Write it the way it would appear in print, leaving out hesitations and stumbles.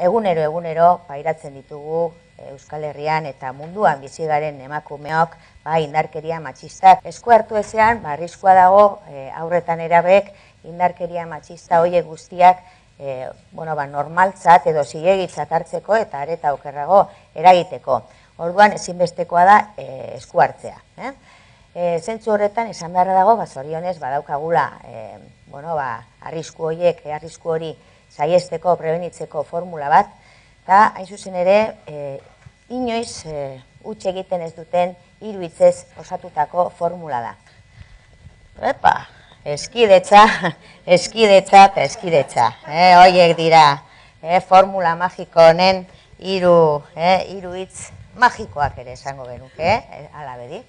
Egunero pairatzen ditugu Euskal Herrian eta munduan bizi garen emakumeok indarkeria matxistak. Esku hartu ezean, arriskua dago haurretan erabek indarkeria matxista horiek guztiak normaltzat edo zilegitzat hartzeko eta areta okerrago eragiteko. Orduan ezinbestekoa da esku hartzea. Zentzu horretan esan beharra dago, zorionez badaukagula arrisku hori saiesteko, prebenitzeko formula bat, eta hain zuzen ere, inoiz huts egiten ez duten 3 hitzez osatutako formula da. Eskidetza eta eskidetza. Horiek dira formula magiko honen 3 hitz magikoak ere esango genuke, hala bedi.